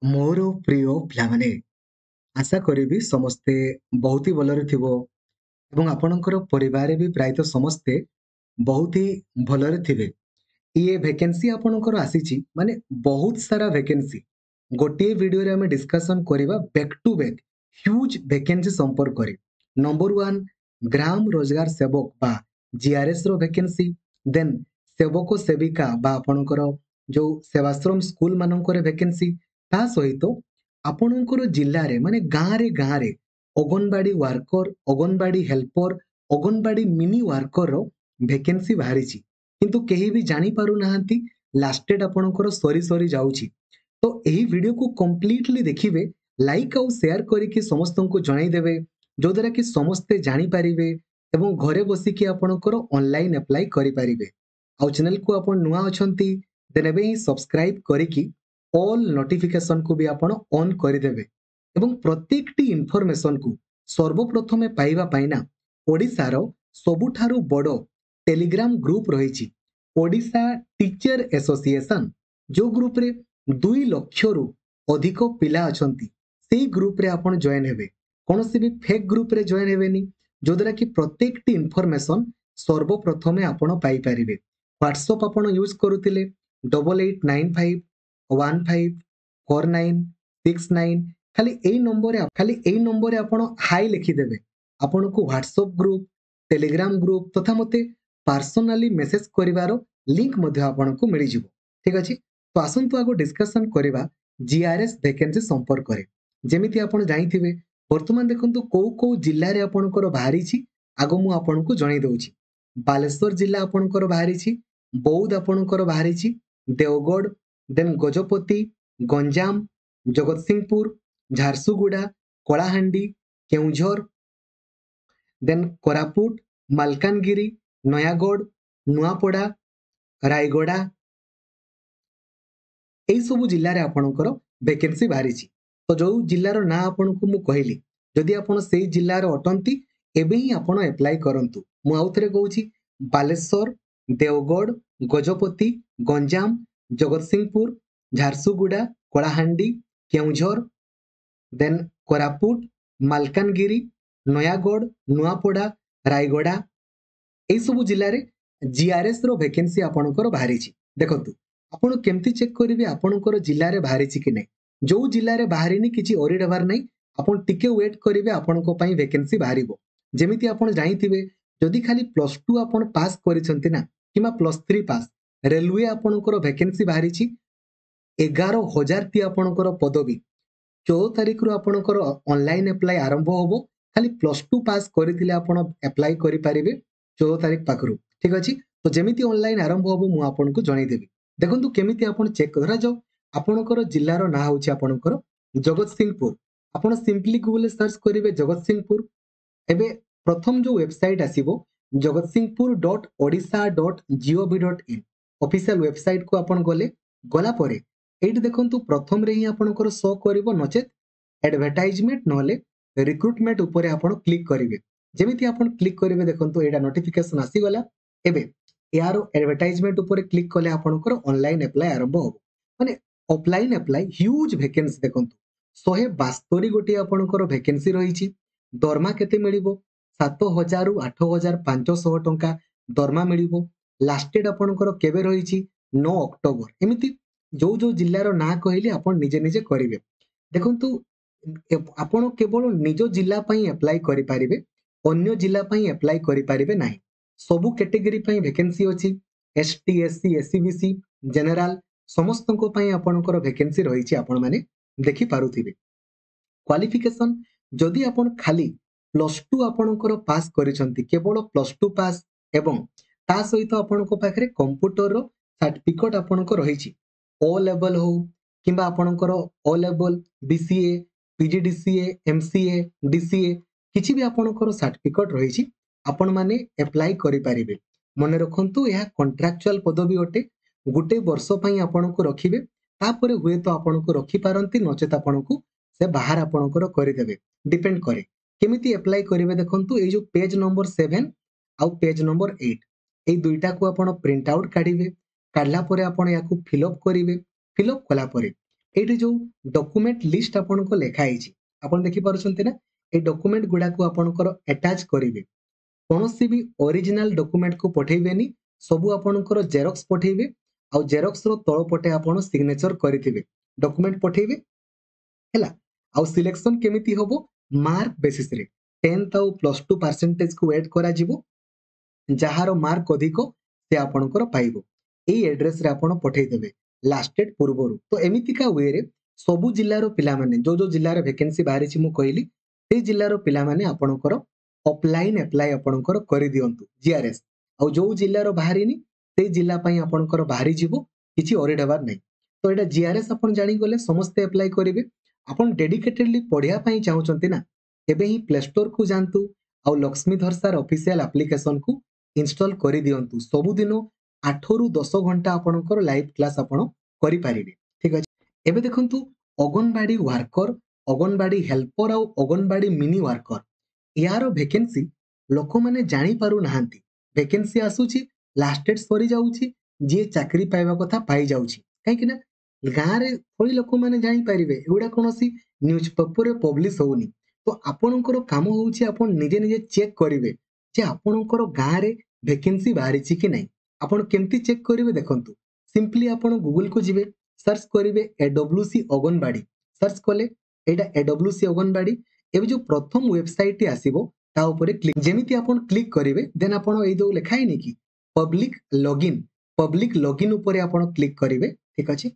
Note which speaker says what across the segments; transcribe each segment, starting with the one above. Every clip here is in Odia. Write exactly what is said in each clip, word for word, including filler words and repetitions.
Speaker 1: ମୋର ପ୍ରିୟ ପିଲାମାନେ, ଆଶା କରିବି ସମସ୍ତେ ବହୁତ ହି ଭଲରେ ଥିବ ଏବଂ ଆପଣଙ୍କର ପରିବାରରେ ବି ପ୍ରାୟତଃ ସମସ୍ତେ ବହୁତ ହି ଭଲରେ ଥିବେ। ଇଏ ଭେକେନ୍ସି ଆପଣଙ୍କର ଆସିଛି, ମାନେ ବହୁତ ସାରା ଭେକେନ୍ସି। ଗୋଟିଏ ଭିଡ଼ିଓରେ ଆମେ ଡିସ୍କସନ୍ କରିବା back to back huge vacancy ସମ୍ପର୍କରେ। ନମ୍ବର ୱାନ୍, ଗ୍ରାମ ରୋଜଗାର ସେବକ ବା ଜିଆର୍ଏସ୍ ର ଭେକେନ୍ସି, ଦେନ୍ ସେବକ ସେବିକା ବା ଆପଣଙ୍କର ଯୋଉ ସେବାଶ୍ରମ ସ୍କୁଲ ମାନଙ୍କରେ ଭେକେନ୍ସି, ତା ସହିତ ଆପଣଙ୍କର ଜିଲ୍ଲାରେ ମାନେ ଗାଁରେ ଗାଁରେ Anganwadi worker, Anganwadi helper, Anganwadi mini ୱାର୍କରର ଭେକେନ୍ସି ବାହାରିଛି, କିନ୍ତୁ କେହି ବି ଜାଣିପାରୁନାହାନ୍ତି। ଲାଷ୍ଟ ଡେଟ୍ ଆପଣଙ୍କର ସରି ସରି ଯାଉଛି। ତ ଏହି ଭିଡ଼ିଓକୁ କମ୍ପ୍ଲିଟଲି ଦେଖିବେ, ଲାଇକ୍ ଆଉ ସେୟାର କରିକି ସମସ୍ତଙ୍କୁ ଜଣାଇଦେବେ, ଯୋଉଦ୍ୱାରା କି ସମସ୍ତେ ଜାଣିପାରିବେ ଏବଂ ଘରେ ବସିକି ଆପଣଙ୍କର ଅନଲାଇନ୍ ଆପ୍ଲାଏ କରିପାରିବେ। ଆଉ ଚ୍ୟାନେଲକୁ ଆପଣ ନୂଆ ଅଛନ୍ତି, ଦେନ୍ ଏବେ ହିଁ ସବସ୍କ୍ରାଇବ୍ କରିକି ଅଲ୍ ନୋଟିଫିକେସନକୁ ବି ଆପଣ ଅନ୍ କରିଦେବେ। ଏବଂ ପ୍ରତ୍ୟେକଟି ଇନଫର୍ମେସନକୁ ସର୍ବପ୍ରଥମେ ପାଇବା ପାଇଁ ନା ଓଡ଼ିଶାର ସବୁଠାରୁ ବଡ଼ ଟେଲିଗ୍ରାମ ଗ୍ରୁପ ରହିଛି, ଓଡ଼ିଶା ଟିଚର ଆସୋସିଏସନ, ଯେଉଁ ଗ୍ରୁପରେ ଦୁଇ ଲକ୍ଷରୁ ଅଧିକ ପିଲା ଅଛନ୍ତି। ସେଇ ଗ୍ରୁପରେ ଆପଣ ଜଏନ୍ ହେବେ, କୌଣସି ବି ଫେକ୍ ଗ୍ରୁପରେ ଜଏନ୍ ହେବେନି, ଯଦ୍ୱାରା କି ପ୍ରତ୍ୟେକଟି ଇନଫର୍ମେସନ ସର୍ବପ୍ରଥମେ ଆପଣ ପାଇପାରିବେ। ହ୍ୱାଟ୍ସଅପ୍ ଆପଣ ୟୁଜ୍ କରୁଥିଲେ double eight nine five one five four nine six nine, ଖାଲି ଏଇ ନମ୍ବରରେ ଖାଲି ଏଇ ନମ୍ବରରେ ଆପଣ ହାଇ ଲେଖିଦେବେ, ଆପଣଙ୍କୁ ହ୍ୱାଟ୍ସଅପ୍ ଗ୍ରୁପ୍, ଟେଲିଗ୍ରାମ ଗ୍ରୁପ୍ ତଥା ମୋତେ ପାର୍ସୋନାଲି ମେସେଜ କରିବାର ଲିଙ୍କ ମଧ୍ୟ ଆପଣଙ୍କୁ ମିଳିଯିବ। ଠିକ ଅଛି, ତ ଆସନ୍ତୁ ଆଗ ଡିସ୍କସନ୍ କରିବା ଜିଆର୍ଏସ୍ ଭେକେନ୍ସି ସମ୍ପର୍କରେ। ଯେମିତି ଆପଣ ଜାଣିଥିବେ, ବର୍ତ୍ତମାନ ଦେଖନ୍ତୁ କୋଉ କୋଉ ଜିଲ୍ଲାରେ ଆପଣଙ୍କର ବାହାରିଛି, ଆଗ ମୁଁ ଆପଣଙ୍କୁ ଜଣାଇ ଦେଉଛି। ବାଲେଶ୍ୱର ଜିଲ୍ଲା ଆପଣଙ୍କର ବାହାରିଛି, ବୌଦ୍ଧ ଆପଣଙ୍କର ବାହାରିଛି, ଦେଓଗଡ଼, ଦେନ୍ ଗଜପତି, ଗଞ୍ଜାମ, ଜଗତସିଂହପୁର, ଝାରସୁଗୁଡ଼ା, କଳାହାଣ୍ଡି, କେଉଁଝର, ଦେନ୍ କୋରାପୁଟ, ମାଲକାନଗିରି, ନୟାଗଡ଼, ନୂଆପଡ଼ା, ରାୟଗଡ଼ା, ଏଇସବୁ ଜିଲ୍ଲାରେ ଆପଣଙ୍କର ଭେକେନ୍ସି ବାହାରିଛି। ତ ଯୋଉ ଜିଲ୍ଲାର ନାଁ ଆପଣଙ୍କୁ ମୁଁ କହିଲି, ଯଦି ଆପଣ ସେଇ ଜିଲ୍ଲାର ଅଟନ୍ତି, ଏବେ ହିଁ ଆପଣ ଆପ୍ଲାଏ କରନ୍ତୁ। ମୁଁ ଆଉ ଥରେ କହୁଛି, ବାଲେଶ୍ୱର, ଦେଓଗଡ଼, ଗଜପତି, ଗଞ୍ଜାମ, ଜଗତସିଂହପୁର, ଝାରସୁଗୁଡ଼ା, କଳାହାଣ୍ଡି, କେଉଁଝର, ଦେନ୍ କୋରାପୁଟ, ମାଲକାନଗିରି, ନୟାଗଡ଼, ନୂଆପଡ଼ା, ରାୟଗଡ଼ା, ଏଇସବୁ ଜିଲ୍ଲାରେ ଜିଆର୍ଏସ୍ ର ଭେକେନ୍ସି ଆପଣଙ୍କର ବାହାରିଛି। ଦେଖନ୍ତୁ ଆପଣ କେମିତି ଚେକ୍ କରିବେ ଆପଣଙ୍କର ଜିଲ୍ଲାରେ ବାହାରିଛି କି ନାହିଁ। ଯୋଉ ଜିଲ୍ଲାରେ ବାହାରିନି, କିଛି ୱରିଡ୍ ହେବାର ନାହିଁ, ଆପଣ ଟିକେ ୱେଟ୍ କରିବେ, ଆପଣଙ୍କ ପାଇଁ ଭେକେନ୍ସି ବାହାରିବ। ଯେମିତି ଆପଣ ଜାଣିଥିବେ, ଯଦି ଖାଲି ପ୍ଲସ୍ ଟୁ ଆପଣ ପାସ୍ କରିଛନ୍ତି ନା କିମ୍ବା ପ୍ଲସ୍ ଥ୍ରୀ ପାସ୍, ରେଲୱେ ଆପଣଙ୍କର ଭେକେନ୍ସି ବାହାରିଛି, ଏଗାର ହଜାରଟି ଆପଣଙ୍କର ପଦବୀ। ଚଉଦ ତାରିଖରୁ ଆପଣଙ୍କର ଅନଲାଇନ୍ ଆପ୍ଲାଏ ଆରମ୍ଭ ହେବ। ଖାଲି ପ୍ଲସ୍ ଟୁ ପାସ୍ କରିଥିଲେ ଆପଣ ଆପ୍ଲାଏ କରିପାରିବେ ଚଉଦ ତାରିଖ ପାଖରୁ। ଠିକ ଅଛି, ତ ଯେମିତି ଅନଲାଇନ୍ ଆରମ୍ଭ ହେବ ମୁଁ ଆପଣଙ୍କୁ ଜଣାଇଦେବି। ଦେଖନ୍ତୁ କେମିତି ଆପଣ ଚେକ୍। ଧରାଯାଉ ଆପଣଙ୍କର ଜିଲ୍ଲାର ନାଁ ହେଉଛି ଆପଣଙ୍କର ଜଗତସିଂହପୁର। ଆପଣ ସିମ୍ପଲି ଗୁଗଲରେ ସର୍ଚ୍ଚ କରିବେ ଜଗତସିଂହପୁର। ଏବେ ପ୍ରଥମ ଯୋଉ ୱେବସାଇଟ୍ ଆସିବ, Jagatsinghpur dot Odisha dot GOV dot in official ୱେବସାଇଟ୍କୁ ଆପଣ ଗଲେ, ଗଲା ପରେ ଏଇଠି ଦେଖନ୍ତୁ ପ୍ରଥମରେ ହିଁ ଆପଣଙ୍କର ଶୋ କରିବ, ନଚେତ୍ ଆଡଭର୍ଟାଇଜମେଣ୍ଟ ନହେଲେ ରିକ୍ରୁଟମେଣ୍ଟ ଉପରେ ଆପଣ କ୍ଲିକ୍ କରିବେ। ଯେମିତି ଆପଣ କ୍ଲିକ୍ କରିବେ, ଦେଖନ୍ତୁ ଏଇଟା ନୋଟିଫିକେସନ ଆସିଗଲା। ଏବେ ଏହାର ଆଡଭର୍ଟାଇଜମେଣ୍ଟ ଉପରେ କ୍ଲିକ୍ କଲେ ଆପଣଙ୍କର ଅନଲାଇନ୍ ଆପ୍ଲାଏ ଆରମ୍ଭ ହେବ, ମାନେ ଅଫଲାଇନ୍ ଆପ୍ଲାଏ। ହ୍ୟୁଜ୍ ଭେକେନ୍ସି ଦେଖନ୍ତୁ, ଶହେ ବାସ୍ତରୀ ଗୋଟିଏ ଆପଣଙ୍କର ଭେକେନ୍ସି ରହିଛି। ଦରମା କେତେ ମିଳିବ? ସାତ ହଜାରରୁ ଆଠ ହଜାର ପାଞ୍ଚଶହ ଟଙ୍କା ଦରମା ମିଳିବ। ଲାଷ୍ଟ ଡେଟ୍ ଆପଣଙ୍କର କେବେ ରହିଛି? ନଅ ଅକ୍ଟୋବର। ଏମିତି ଯୋଉ ଯୋଉ ଜିଲ୍ଲାର ନାଁ କହିଲି, ଆପଣ ନିଜେ ନିଜେ କରିବେ। ଦେଖନ୍ତୁ, ଆପଣ କେବଳ ନିଜ ଜିଲ୍ଲା ପାଇଁ ଆପ୍ଲାଏ କରିପାରିବେ, ଅନ୍ୟ ଜିଲ୍ଲା ପାଇଁ ଆପ୍ଲାଏ କରିପାରିବେ ନାହିଁ। ସବୁ କ୍ୟାଟେଗୋରୀ ପାଇଁ ଭେକେନ୍ସି ଅଛି, S T, S C, S C B C, general, ସମସ୍ତଙ୍କ ପାଇଁ ଆପଣଙ୍କର ଭେକେନ୍ସି ରହିଛି। ଆପଣମାନେ ଦେଖିପାରୁଥିବେ। କ୍ୱାଲିଫିକେସନ, ଯଦି ଆପଣ ଖାଲି ପ୍ଲସ୍ ଟୁ ଆପଣଙ୍କର ପାସ୍ କରିଛନ୍ତି, କେବଳ ପ୍ଲସ୍ ଟୁ ପାସ୍, ଏବଂ ତା ସହିତ ଆପଣଙ୍କ ପାଖରେ କମ୍ପ୍ୟୁଟରର ସାର୍ଟିଫିକେଟ ଆପଣଙ୍କ ରହିଛି, ଓ ଲେବଲ ହଉ କିମ୍ବା ଆପଣଙ୍କର ଓ ଲେବଲ, ବିସିଏ, ପିଜିଡିସିଏ, ଏମସିଏ, ଡିସିଏ, କିଛି ବି ଆପଣଙ୍କର ସାର୍ଟିଫିକେଟ ରହିଛି, ଆପଣମାନେ ଆପ୍ଲାଏ କରିପାରିବେ। ମନେ ରଖନ୍ତୁ, ଏହା କଣ୍ଟ୍ରାକ୍ଚୁଆଲ ପଦବୀ ଅଟେ। ଗୋଟେ ବର୍ଷ ପାଇଁ ଆପଣଙ୍କୁ ରଖିବେ, ତାପରେ ହୁଏତ ଆପଣଙ୍କୁ ରଖିପାରନ୍ତି, ନଚେତ ଆପଣଙ୍କୁ ସେ ବାହାର ଆପଣଙ୍କର କରିଦେବେ, ଡିପେଣ୍ଡ କରେ। କେମିତି ଆପ୍ଲାଏ କରିବେ? ଦେଖନ୍ତୁ, ଏଇ ଯୋଉ ପେଜ ନମ୍ବର ସେଭେନ ଆଉ ପେଜ ନମ୍ବର ଏଇଟ୍, ଏଇ ଦୁଇଟାକୁ ଆପଣ ପ୍ରିଣ୍ଟ ଆଉଟ୍ କାଢିବେ। କାଢିଲା ପରେ ଆପଣ ୟାକୁ ଫିଲ୍ଅପ୍ କରିବେ। ଫିଲ୍ଅପ୍ କଲା ପରେ ଏଇଠି ଯୋଉ ଡକୁମେଣ୍ଟ ଲିଷ୍ଟ ଆପଣଙ୍କ ଲେଖା ହେଇଛି ଆପଣ ଦେଖିପାରୁଛନ୍ତି ନା ଏଇ ଡକୁମେଣ୍ଟ ଗୁଡାକୁ ଆପଣଙ୍କର ଆଟାଚ୍ କରିବେ କୌଣସି ବି ଅରିଜିନାଲ ଡକୁମେଣ୍ଟକୁ ପଠେଇବେନି ସବୁ ଆପଣଙ୍କର ଜେରକ୍ସ ପଠେଇବେ ଆଉ ଜେରକ୍ସର ତଳ ପଟେ ଆପଣ ସିଗ୍ନେଚର କରିଥିବେ ଡକୁମେଣ୍ଟ ପଠେଇବେ ହେଲା ଆଉ ସିଲେକ୍ସନ କେମିତି ହବ ମାର୍କ ବେସିସରେ ଟେନ୍ଥ ଆଉ ପ୍ଲସ୍ ଟୁ ପରସେଣ୍ଟେଜକୁ ଏଡ୍ କରାଯିବ ଯାହାର ମାର୍କ ଅଧିକ ସେ ଆପଣଙ୍କର ପାଇବ ଏଇ ଆଡ୍ରେସରେ ଆପଣ ପଠେଇଦେବେ ଲାଷ୍ଟ ଡେଟ୍ ପୂର୍ବରୁ ତ ଏମିତିକା ୱେରେ ସବୁ ଜିଲ୍ଲାର ପିଲାମାନେ ଯୋଉ ଯୋଉ ଜିଲ୍ଲାରେ ଭେକେନ୍ସି ବାହାରିଛି ମୁଁ କହିଲି ସେଇ ଜିଲ୍ଲାର ପିଲାମାନେ ଆପଣଙ୍କର ଅଫଲାଇନ୍ ଆପ୍ଲାଏ ଆପଣଙ୍କର କରିଦିଅନ୍ତୁ ଜିଆରଏସ୍ ଆଉ ଯୋଉ ଜିଲ୍ଲାର ବାହାରିନି ସେଇ ଜିଲ୍ଲା ପାଇଁ ଆପଣଙ୍କର ବାହାରିଯିବ କିଛି ୱରିଡ୍ ହେବାର ନାହିଁ ତ ଏଇଟା ଜିଆରଏସ୍ ଆପଣ ଜାଣିଗଲେ ସମସ୍ତେ ଆପ୍ଲାଏ କରିବେ ଆପଣ ଡେଡିକେଟେଡଲି ପଢିବା ପାଇଁ ଚାହୁଁଛନ୍ତି ନା ଏବେ ହିଁ ପ୍ଲେ ଷ୍ଟୋରକୁ ଯାଆନ୍ତୁ ଆଉ ଲକ୍ଷ୍ମୀଧର ସାର୍ ଅଫିସିଆଲ ଆପ୍ଲିକେସନକୁ ଇନଷ୍ଟଲ କରିଦିଅନ୍ତୁ ସବୁଦିନ ଆଠରୁ ଦଶ ଘଣ୍ଟା ଆପଣଙ୍କର ଲାଇଭ୍ କ୍ଲାସ୍ ଆପଣ କରିପାରିବେ ଠିକ ଅଛି ଏବେ ଦେଖନ୍ତୁ ଅଙ୍ଗନବାଡି ୱାର୍କର ଅଙ୍ଗନବାଡି ହେଲ୍ପର ଆଉ ଅଙ୍ଗନବାଡି ମିନି ୱାର୍କର ୟାର ଭେକେନ୍ସି ଲୋକମାନେ ଜାଣିପାରୁନାହାନ୍ତି ଭେକେନ୍ସି ଆସୁଛି ଲାଷ୍ଟ ଡେଟ୍ ସରିଯାଉଛି ଯିଏ ଚାକିରି ପାଇବା କଥା ପାଇଯାଉଛି କାହିଁକି ନା ଗାଁରେ ଥୋଡ଼ି ଲୋକମାନେ ଜାଣିପାରିବେ ଏଗୁଡ଼ା କୌଣସି ନ୍ୟୁଜ୍ ପେପରରେ ପବ୍ଲିଶ ହଉନି ତ ଆପଣଙ୍କର କାମ ହଉଛି ଆପଣ ନିଜେ ନିଜେ ଚେକ୍ କରିବେ ଯେ ଆପଣଙ୍କର ଗାଁରେ ଭେକେନ୍ସି ବାହାରିଛି କି ନାହିଁ ଆପଣ କେମିତି ଚେକ୍ କରିବେ ଦେଖନ୍ତୁ ସିମ୍ପଲି ଆପଣ ଗୁଗଲକୁ ଯିବେ ସର୍ଚ୍ଚ କରିବେ A W C anganwadi search କଲେ ଏଇଟା ଏ ଡବ୍ଲ୍ୟୁ ସି ଅଙ୍ଗନବାଡି ଏବେ ଯୋଉ ପ୍ରଥମ ୱେବସାଇଟଟି ଆସିବ ତା ଉପରେ କ୍ଲିକ୍ ଯେମିତି ଆପଣ କ୍ଲିକ୍ କରିବେ ଦେନ୍ ଆପଣ ଏଇ ଯୋଉ ଲେଖା ହେଇନି କି ପବ୍ଲିକ ଲଗଇନ୍ ପବ୍ଲିକ ଲଗଇନ୍ ଉପରେ ଆପଣ କ୍ଲିକ୍ କରିବେ ଠିକ ଅଛି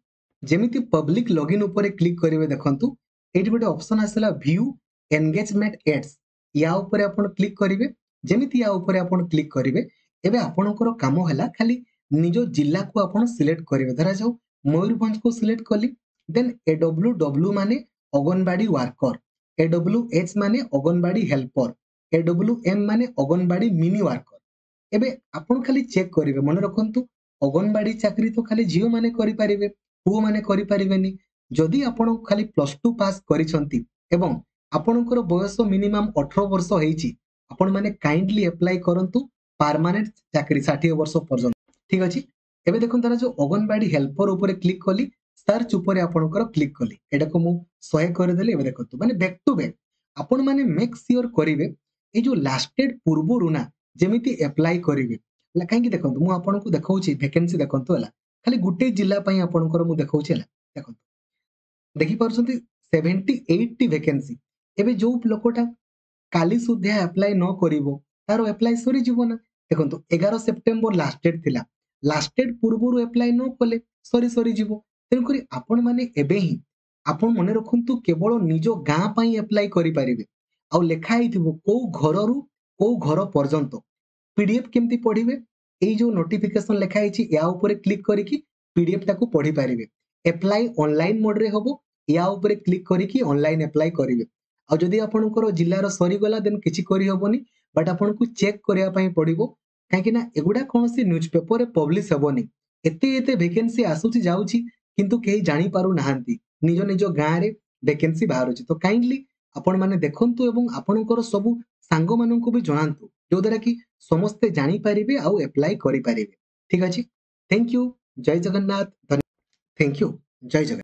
Speaker 1: ଯେମିତି ପବ୍ଲିକ ଲଗଇନ୍ ଉପରେ କ୍ଲିକ୍ କରିବେ ଦେଖନ୍ତୁ ଏଇଠି ଗୋଟେ ଅପସନ ଆସିଲା ଭ୍ୟୁ ଏନଗେଜମେଣ୍ଟ ଏଡ୍ସ ୟା ଉପରେ ଆପଣ କ୍ଲିକ୍ କରିବେ ଯେମିତି ୟା ଉପରେ ଆପଣ କ୍ଲିକ୍ କରିବେ ଏବେ ଆପଣଙ୍କର କାମ ହେଲା ଖାଲି ନିଜ ଜିଲ୍ଲାକୁ ଆପଣ ସିଲେକ୍ଟ କରିବେ ଧରାଯାଉ ମୟୂରଭଞ୍ଜକୁ ସିଲେକ୍ଟ କଲି ଦେନ୍ ଏ ଡବ୍ଲ୍ୟୁ ଡବ୍ଲ୍ୟୁ ମାନେ Anganwadi worker A W H ମାନେ Anganwadi helper A W M ମାନେ ଅଙ୍ଗନବାଡି ମିନି ୱାର୍କର ଏବେ ଆପଣ ଖାଲି ଚେକ୍ କରିବେ ମନେ ରଖନ୍ତୁ ଅଙ୍ଗନବାଡି ଚାକିରି ତ ଖାଲି ଝିଅମାନେ କରିପାରିବେ ପୁଅମାନେ କରିପାରିବେନି ଯଦି ଆପଣ ଖାଲି ପ୍ଲସ୍ ଟୁ ପାସ୍ କରିଛନ୍ତି ଏବଂ ଆପଣଙ୍କର ବୟସ ମିନିମମ୍ ଅଠର ବର୍ଷ ହେଇଛି ଆପଣମାନେ କାଇଣ୍ଡଲି ଆପ୍ଲାଏ କରନ୍ତୁ ପାରମାନେଣ୍ଟ ଚାକିରି ଷାଠିଏ ବର୍ଷ ପର୍ଯ୍ୟନ୍ତ ଠିକ ଅଛି ଏବେ ଦେଖନ୍ତୁ ତାର ଯୋଉ ଅଙ୍ଗନବାଡି ହେଲ୍ପର ଉପରେ କ୍ଲିକ୍ କଲି ସର୍ଚ୍ଚ ଉପରେ ଆପଣଙ୍କର କ୍ଲିକ୍ କଲି ଏଟାକୁ ମୁଁ ଶହେ କରିଦେଲି ଏବେ ଦେଖନ୍ତୁ ମାନେ ବ୍ୟାକ୍ ଟୁ ବ୍ୟାକ୍ ଆପଣମାନେ ମେକ୍ ସିଓର କରିବେ ଏଇ ଯୋଉ ଲାଷ୍ଟ ଡେଟ୍ ପୂର୍ବରୁ ନା ଯେମିତି ଆପ୍ଲାଏ କରିବେ ହେଲା କାହିଁକି ଦେଖନ୍ତୁ ମୁଁ ଆପଣଙ୍କୁ ଦେଖାଉଛି ଭେକେନ୍ସି ଦେଖନ୍ତୁ ହେଲା ଖାଲି ଗୋଟେ ଜିଲ୍ଲା ପାଇଁ ଆପଣଙ୍କର ମୁଁ ଦେଖାଉଛି ହେଲା ଦେଖନ୍ତୁ ଦେଖିପାରୁଛନ୍ତି ସେଭେଣ୍ଟି ଏଇଟଟି ଭେକେନ୍ସି ଏବେ ଯୋଉ ଲୋକଟା କାଲି ସୁଦ୍ଧା ଆପ୍ଲାଏ ନ କରିବ ତାର ଆପ୍ଲାଏ ସରିଯିବ ନା ଦେଖନ୍ତୁ ଏଗାର ସେପ୍ଟେମ୍ବର ଲାଷ୍ଟ ଡେଟ୍ ଥିଲା ଲାଷ୍ଟ ଡେଟ୍ ପୂର୍ବରୁ ଆପ୍ଲାଏ ନ କଲେ ସରି ସରିଯିବ ତେଣୁକରି ଆପଣମାନେ ଏବେ ହିଁ ଆପଣ ମନେ ରଖନ୍ତୁ କେବଳ ନିଜ ଗାଁ ପାଇଁ ଆପ୍ଲାଏ କରିପାରିବେ ଆଉ ଲେଖା ହେଇଥିବ କୋଉ ଘରରୁ କୋଉ ଘର ପର୍ଯ୍ୟନ୍ତ ପିଡିଏଫ୍ କେମିତି ପଢିବେ ଏଇ ଯୋଉ ନୋଟିଫିକେସନ ଲେଖା ହେଇଛି ୟା ଉପରେ କ୍ଲିକ୍ କରିକି ପିଡିଏଫ୍ ଟାକୁ ପଢିପାରିବେ ଆପ୍ଲାଏ ଅନଲାଇନ ମୋଡରେ ହବ ୟା ଉପରେ କ୍ଲିକ୍ କରିକି ଅନଲାଇନ ଆପ୍ଲାଏ କରିବେ ଆଉ ଯଦି ଆପଣଙ୍କର ଜିଲ୍ଲାର ସରିଗଲା ଦେନ୍ କିଛି କରିହବନି ବଟ୍ ଆପଣଙ୍କୁ ଚେକ୍ କରିବା ପାଇଁ ପଡିବ କାହିଁକି ନା ଏଗୁଡ଼ା କୌଣସି ନ୍ୟୁଜ୍ ପେପରରେ ପବ୍ଲିଶ ହେବନି ଏତେ ଏତେ ଭେକେନ୍ସି ଆସୁଛି ଯାଉଛି କିନ୍ତୁ କେହି ଜାଣିପାରୁନାହାନ୍ତି ନିଜ ନିଜ ଗାଁରେ ଭେକେନ୍ସି ବାହାରୁଛି ତ କାଇଣ୍ଡଲି ଆପଣମାନେ ଦେଖନ୍ତୁ ଏବଂ ଆପଣଙ୍କର ସବୁ ସାଙ୍ଗମାନଙ୍କୁ ବି ଜଣାନ୍ତୁ ଯୋଉଦ୍ୱାରା କି ସମସ୍ତେ ଜାଣିପାରିବେ ଆଉ ଆପ୍ଲାଏ କରିପାରିବେ ଠିକ ଅଛି thank you Jay Jagannath thank you Jay Jagannath